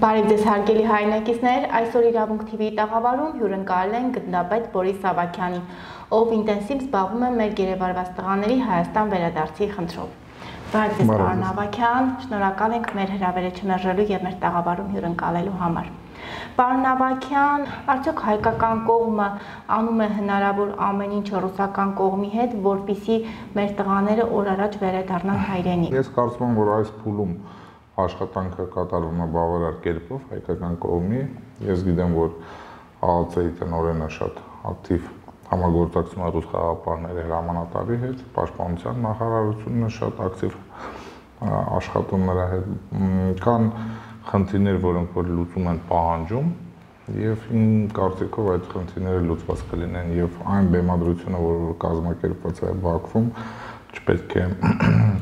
Բարև ձեզ հարգելի հայրենակիցներ, այսօր Իրավունք TV-ի տաղավարում հյուրընկալել են գտնապետ Բորիս Ավագյանին, ով ինտենսիվ զբաղվում է մեր գերեվարված տղաների Հայաստան վերադարձի խնդրով։ Բարև ձեզ, պարոն Ավագյան, շնորհակալ ենք մեր հրավերը չմերժելու եւ մեր տաղավարում հյուրընկալելու համար։ Պարոն Ավագյան, արդյոք հայկական կողմը անում է հնարավոր ամեն ինչ ռուսական կողմի հետ, որպեսզի մեր տղաները օր առաջ վերադառնան հայրենիք։ Ես կարծում եմ, որ այս փուլում աշխատանքը կատարվում է բավարար կերպով հայկական կողմի։ Ես գիտեմ, որ ԱԱՑ-ի տնօրենը շատ ակտիվ համագործակցում է ռուս խաղաղապահների հրամանատարի հետ, պաշտպանության նախարարությունը շատ ակտիվ աշխատում նրա հետ։ Կան խնդիրներ, որոնք որ լուծում են պահանջում, եւ իմ կարծիքով այդ խնդիրները լուծված կլինեն եւ այն բեմադրությունը, որ կազմակերպված է Բաքվում, չպետք է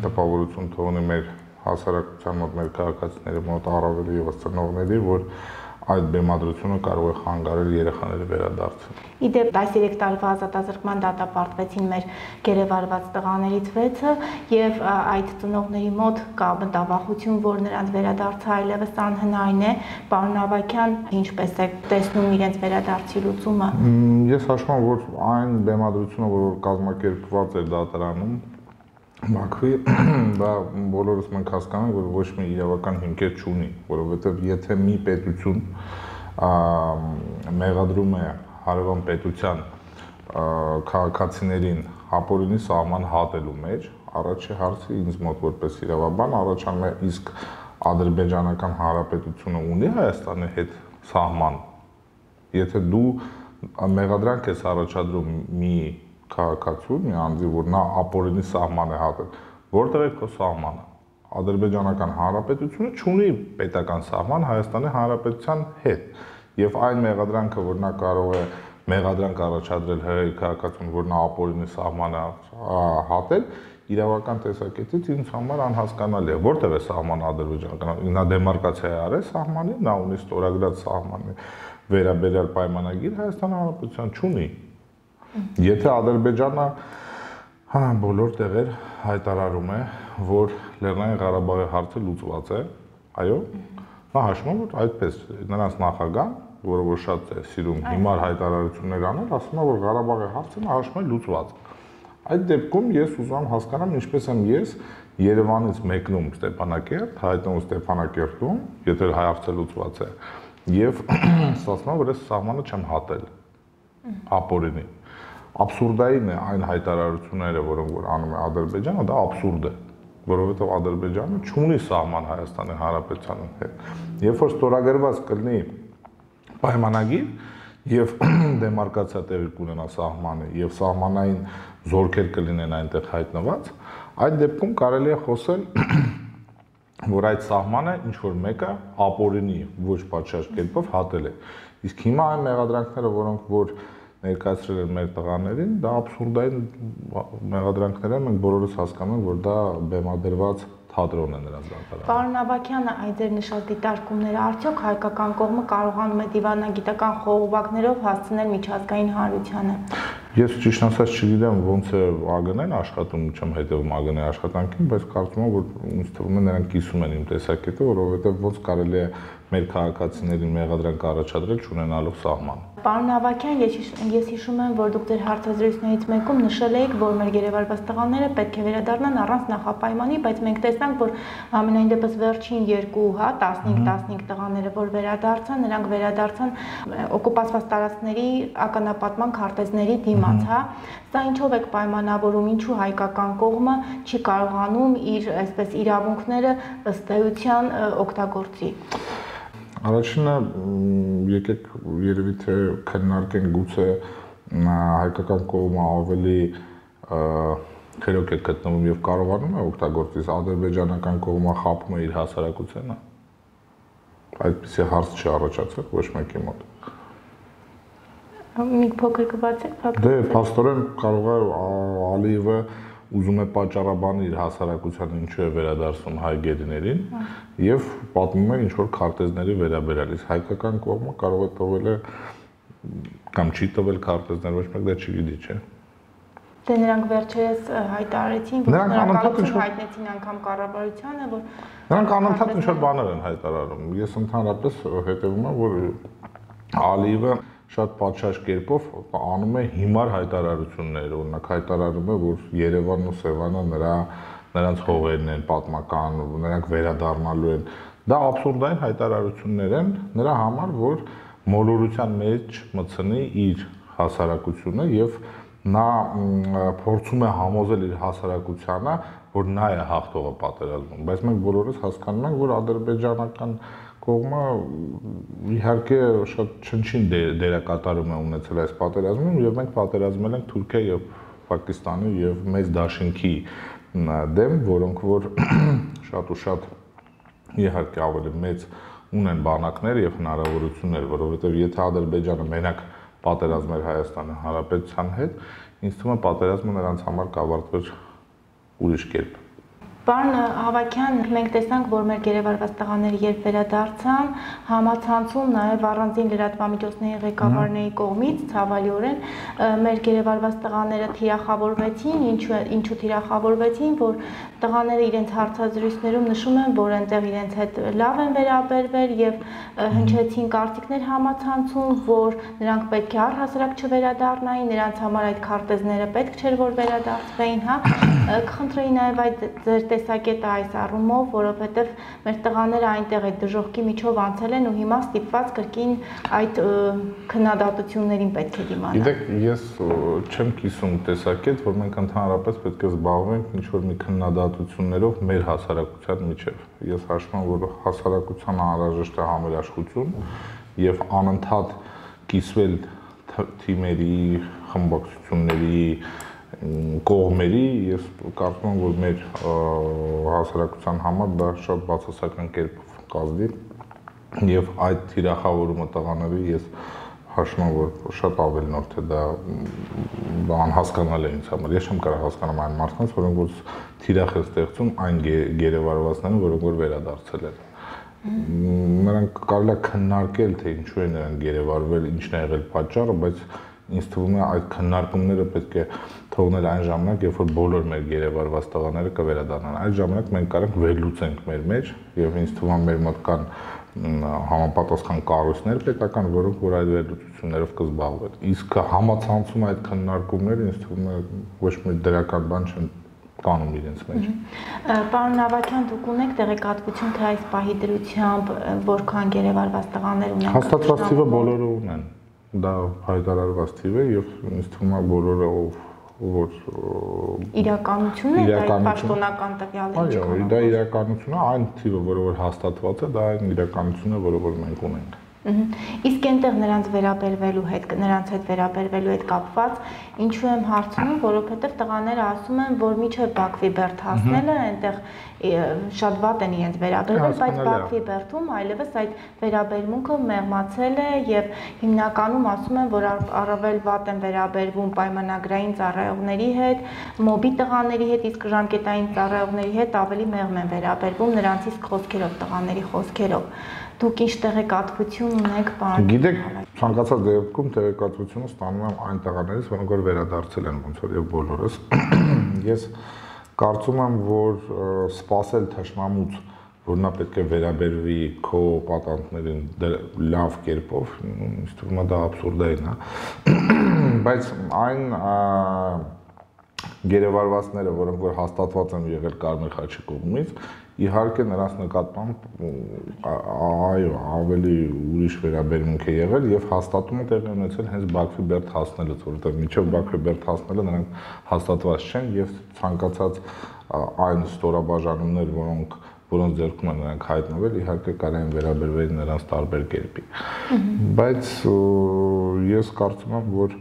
տպավորություն թողնի մեր հասարակության մոտ, մեր քաղաքացիների մոտ, առավել ևս ծնողների, որ այդ բեմադրությունը կարող է խանգարել երեխաների վերադարձին։ Իդեպ այս 3 տարվա ազատազրկման դատապարտվեցին մեր գերեվարված տղաներից 6-ը եւ այդ ծնողների մոտ կա մտավախություն, որ նրանց վերադարձը այլևս անհնարին է։ Պարոն Ավագյան, ինչպես է տեսնում իրենց վերադարձի լուծումը։ Ես հաշվում եմ, որ այն բեմադրությունը, որ կազմակերպված էր դատարանում Բաքվի, դա բոլորս մենք հասկանում ենք, որ ոչ մի իրավական հիմքեր չունի, որովհետև եթե մի պետություն մեղադրում է հարևան պետության քաղաքացիներին ապօրինի սահման հատելու մեջ, առաջի հարցը ինձ մոտ որպես իրավաբան առաջանում է, իսկ Ադրբեջանական Հանրապետությունը ունի Հայաստանի հետ սահման։ Եթե դու մեղադրանք ես առաջադրում մի քաղաքացու, մի անձի, որ նա ապօրինի սահման է հատել, որտեղ է քո սահմանը։ Ադրբեջանական Հանրապետությունը չունի պետական սահման Հայաստանի Հանրապետության հետ, եւ այն մեղադրանքը, որ նա կարող է մեղադրանք առաջադրել ՀՀ քաղաքացուն, որ նա ապօրինի սահման է հատել, իրավական տեսակետից ինձ համար անհասկանալի է, որտեղ է սահմանը ադրբեջանական, նա դեմարկացիա է արել սահմանի, նա ունի ստորագրած սահմանի վերաբերյալ պայմանագիր, Հայաստանի Հանրապետության չունի։ Եթե Ադրբեջանը բոլոր տեղեր հայտարարում է, որ Լեռնային Ղարաբաղի հարցը լուծված է, այո, նա հաշվում է, որ այդպես նրանց նախագահ, որը որ շատ է սիրում հիմար հայտարարություններ անել, ասում է, որ Ղարաբաղի հարցը նա հաշվում է լուծված։ Այդ դեպքում ես ուզում եմ հասկանամ, ինչպես եմ ես Երևանից մեկնում Ստեփանակերտ, հայտնվում Ստեփանակերտում, եթե հարցը լուծված է, եւ ասում եմ, որ ես սահմանը չեմ հատել ապօրինի։ Աբսուրդային է այն հայտարարությունները, որոնք որ անում է Ադրբեջանը, դա աբսուրդ է, որովհետև Ադրբեջանը չունի սահման Հայաստանի Հանրապետության հետ։ Երբ որ ստորագրված կլինի պայմանագիր եւ դեմարկացիա տեղի կունենա սահմանը եւ սահմանային զորքեր կլինեն այնտեղ հայտնված, այդ դեպքում կարելի է խոսել, որ այդ սահմանը ինչ որ մեկը ապօրինի ոչ պատշաճ կերպով հատել է։ Իսկ հիմա այն մեղադրանքները, որոնք որ ներկայացրել են մեր տղաներին, դա աբսուրդային մեղադրանքներ են, մենք բոլորս հասկանում ենք, որ դա բեմադրված թատրոն է նրանց դատարանում։ Պարոն Ավագյանը, այդ ձեր նշած դիտարկումները արդյոք հայկական կողմը կարողանում է դիվանագիտական խողովակներով հասցնել միջազգային հանրությանը։ Ես ճիշտ ասած չգիտեմ ոնց է ԱԳՆ-ն աշխատում, չեմ հետևում ԱԳՆ-ի աշխատանքին, բայց կարծում եմ, որ ինձ թվում է նրանք կիսում են իմ տեսակետը, որովհետև ոնց կարելի է մեր քաղաքացիներին մեղադրանք առաջադրել չունենալով սահման։ Պարոն Ավագյան, ես հիշում եմ, որ դուք ձեր հարցազրույցներից մեկում նշել եք, որ մեր գերեվարված տղաները պետք է վերադառնան առանց նախապայմանի, բայց մենք տեսանք, որ ամենայն դեպս վերջին 2, 15 տղաները, որ վերադարձան, նրանք վերադարձան օկուպացված տարածքների ականապատման քարտեզների դիմաց, հա։ Սա ինչով եք պայմանավորում, ինչու հայկական կողմը չի կարողանում իր այսպես իրավունքները ըստ էության օգտագործի։ Առաջինը եկեք երևի թե քննարկենք գուցե հայկական կողմը ավելի խելոք է գտնվում եւ կարողանում է օգտագործել, ադրբեջանական կողմը խափում է իր հասարակությանը։ Այդպիսի հարց չի առաջացել ոչ մեկի մոտ։ Մի փոքր կբացեք, Դե, փաստորեն կարող է Ալիևը ուզում է պատճառաբանել իր հասարակությանը ինչու է վերադարձում հայ գերիներին եւ պատմում է ինչ որ քարտեզների վերաբերյալ, իսկ հայկական կողմը կարող է տվել է կամ չի տվել քարտեզներ, ոչ մեկ դա չգիտի, չէ։ Դե նրանք վերջերս հայտարարեցին, որ շնորհակալություն հայտնեցին անգամ կառավարությանը, որ նրանք անընդհատ ինչ-որ բաներ են հայտարարում։ Ես ընդհանրապես հետևում եմ, որ Ալիևը շատ պատշաճ կերպով անում է հիմար հայտարարություններ, օրինակ հայտարարում է, որ Երևանն ու Սևանը նրանց հողերն են պատմական, նրանք վերադառնալու են։ Դա աբսուրդային հայտարարություններ են նրա համար, որ մոլորության մեջ մտցնի իր հասարակությունը եւ նա փորձում է համոզել իր հասարակությանը, որ նա է հաղթողը պատերազմում, բայց մենք բոլորս հասկանում ենք, որ ադրբեջանական կողմը իհարկե շատ չնչին դերակատարում է ունեցել այս պատերազմում եւ մենք պատերազմել ենք Թուրքիա եւ Պակիստանի եւ մեծ դաշինքի դեմ, որոնք որ շատ ու շատ իհարկե ավելի մեծ ունեն բանակներ եւ հնարավորություններ, որովհետեւ եթե Ադրբեջանը մենակ պատերազմեր Հայաստանի Հանրապետության հետ, ինձ թվում է պատերազմը նրանց համար կավարտվեր ուրիշ կերպ։ Պարոն Հավաքյան, մենք տեսանք, որ մեր գերեվարված տղաները երբ վերադարձան, համացանցում նաև առանձին լրատվամիջոցների ղեկավարների կողմից ցավալիորեն մեր գերեվարված տղաները թիրախավորվեցին, ինչու թիրախավորվեցին, որ տղաները իրենց հարցազրույցներում նշում են, որ այնտեղ իրենց հետ լավ են վերաբերվել եւ հնչեցին կարծիքներ համացանցում, որ նրանք պետք է առհասարակ չվերադառնային, նրանց համար այդ քարտեզները պետք չէր որ վերադարձվեին, հա։ Կխնդրեի նաև այդ ձեր տեսակետը այս առումով, որովհետև մեր տղաները այնտեղ այդ դժոխքի միջով անցել են ու հիմա ստիպված կրկին այդ քննադատություններին պետք է դիմանալ։ Գիտեք, ես չեմ կիսում տեսակետ, որ մենք ընդհանրապես պետք է զբաղվենք ինչ-որ մի քննադատություններով մեր հասարակության միջև։ Ես հաշվում եմ, որ հասարակությանը անհրաժեշտ է համերաշխություն եւ անընդհատ կիսվել թիմերի, խմբակցությունների կողմերի, ես կարծում եմ, որ մեր հասարակության համար դա շատ բացասական կերպով կազդի եւ այդ թիրախավորումը տղաների ես հաշվում եմ, որ շատ ավելի նոր թե դա անհասկանալի է ինձ համար։ Ես չեմ կարող հասկանալ այն մարդկանց, որոնք որ թիրախ են ստեղծում այն գերեվարվածները, որոնք որ վերադարձել են։ Նրանք կարելի է քննարկել, թե ինչու են նրանք գերեվարվել, ինչն է եղել պատճառը, բայց ինձ թվում է այդ քննարկումները պետք է թողնել այն ժամանակ, երբ որ բոլոր մեր գերեվարված տղաները կվերադառնան։ Այդ ժամանակ մենք կարող ենք վերլուծենք մեր մեջ եւ ինձ թվում է մեր մոտ կան համապատասխան կառույցներ պետական, որոնք որ այդ վերլուծություններով կզբաղվեն։ Իսկ համացանցում այդ քննարկումները ինձ թվում է ոչ մի դրական բան չեն կանում իրենց մեջ։ Պարոն Ավագյան, դուք ունեք տեղեկատվություն, թե այս պահի դրությամբ որքան գերեվարված տղաներ ունեն։ Հաստատված թիվը բոլորը ունեն։ Դա հայտարարված թիվ է եւ ինձ թվում է բոլորը որ իրականությունն է, դա պաշտոնական տվյալներ չկան։ Այո, դա իրականությունն է, այն թիվը, որը հաստատված է, դա այն իրականությունն է, որը մենք ունենք։ Իսկ այնտեղ նրանց հետ վերաբերվելու հետ կապված ինչու եմ հարցնում, որովհետև տղաները ասում են, որ միջև Բաքվի բերդ հասնելը այնտեղ շատ վատ են իրենց վերաբերվել, բայց Բաքվի բերդում այլևս այդ վերաբերմունքը մեղմացել է եւ հիմնականում ասում են, որ առավել վատ են վերաբերվում պայմանագրային ծառայողների հետ, մոբի տղաների հետ, իսկ ժամկետային ծառայողների հետ ավելի մեղմ են վերաբերվում նրանցից խոսքերով, տղաների խոսքերով։ Դուք ինչ տեղեկատվություն ունեք, պարոն։ Գիտեք, ցանկացած դեպքում տեղեկատվությունը ստանում եմ այն տղաներից, որոնք որ վերադարձել են ոնց որ եւ բոլորս։ Ես կարծում եմ, որ սпасել թշնամուց, որ նա պետք է վերաբերվի քո պատանտներին լավ կերպով, ինձ թվում է դա աբսուրդային է։ Բայց այն գերեվարվածները, որոնք որ հաստատված են եղել Կարմիր խաչի կողմից, իհարկե նրանց նկատմամբ այո, ավելի ուրիշ վերաբերմունք է եղել եւ հաստատումը տեղի ունեցել հենց Բաքվի բերդ հասնելուց, որովհետեւ մինչեւ Բաքվի բերդ հասնելը նրանք հաստատված չեն եւ ցանկացած այն ստորաբաժանումներ, որոնց ձեռքում են նրանք հայտնվել, իհարկե կարող են վերաբերվել նրանց տարբեր կերպի։ Բայց ես կարծում եմ, որ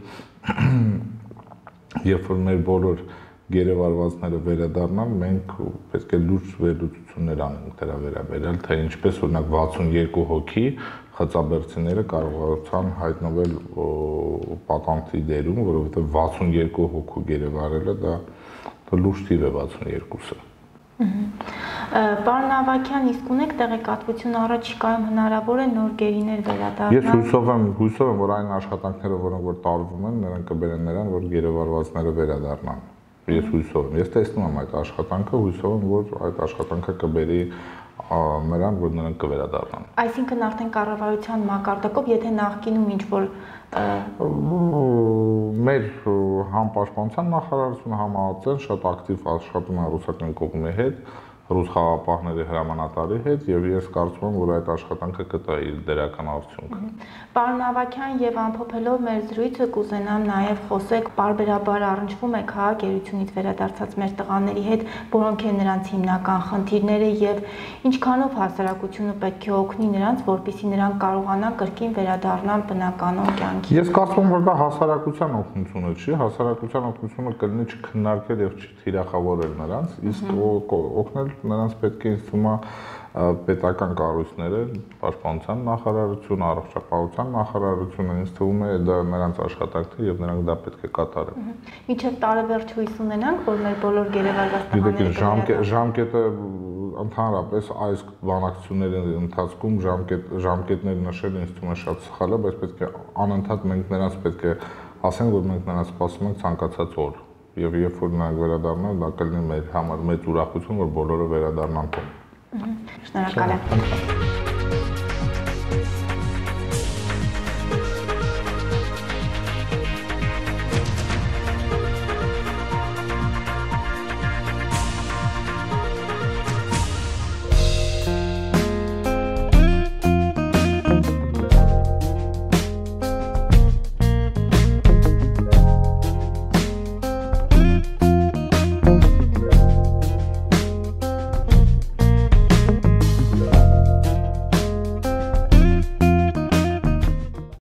երբ որ մեր բոլոր գերեվարվածները վերադառնան, մենք պետք է լուրջ վերլուծություններ անենք դրա վերաբերյալ, թե ինչպես օրինակ 62 հոգի խծաբերցիները կարողացան հայտնվել պատանտի դերում, որովհետև 62 հոգու գերեվարելը դա լուրջ թիվ է 62-ը։ Պարոն Ավագյան, իսկ ունեք տեղեկատվություն առաջիկայում հնարավոր է նոր գերիներ վերադառնալ։ Ես հույսով եմ, որ այն աշխատանքները, որոնք որ տարվում են, նրանք կբերեն նրան, որ գերեվարվածները վերադառնան։ Ես հույսով եմ։ Ես տեսնում եմ այդ աշխատանքը, հույսով եմ, որ այդ աշխատանքը կբերի նրան, որ նրանք կվերադառնան։ Այսինքն արդեն կառավարության մակարդակով, եթե նախկինում ինչ-որ մեր համ պաշտպանության նախարարությունը, համ ԱԱԾ-ն շատ ակտիվ աշխատում է ռուսական կողմի հետ, ռուս խաղապահների հրամանատարի հետ, եւ ես կարծում եմ, որ այդ աշխատանքը կտա իր դերական արդյունքը։ Պարոն Ավագյան, եւ ամփոփելով մեր զրույցը կուզենամ նաեւ խոսեք, պարբերաբար առնչվում է քաղաքերությունից վերադարձած մեր տղաների հետ, որոնք են նրանց հիմնական խնդիրները եւ ինչքանով հասարակությունը պետք է օգնի նրանց, որպեսզի նրանք կարողանան կրկին վերադառնալ բնականon կյանքի։ Ես կարծում եմ, որ դա հասարակության օգնությունը չի, հասարակության օգնությունը կլինի չքննարկել եւ չթիրախավորել նրանց, իսկ օգնել նրանց պետք է ինձ թվում է պետական կառույցները, պաշտպանության նախարարությունը, առողջապահության նախարարությունը, ինձ թվում է դա նրանց աշխատանքն է եւ նրանք դա պետք է կատարեն։ Մինչեւ տարեվերջ հույս ունենանք, որ մեր բոլոր գերեվարված տղաները ժամկետը ընդհանրապես այս բանակցությունների ընթացքում ժամկետներ նշելը ինձ թվում է շատ սխալ է, բայց պետք է անընդհատ մենք նրանց պետք է ասենք, որ մենք նրանց սպասում ենք ցանկացած օր։ Եվ երբ որ նրանք վերադառնան, դա կլինի մեր համար մեծ ուրախություն, որ բոլորը վերադառնան տուն։ Շնորհակալ եմ։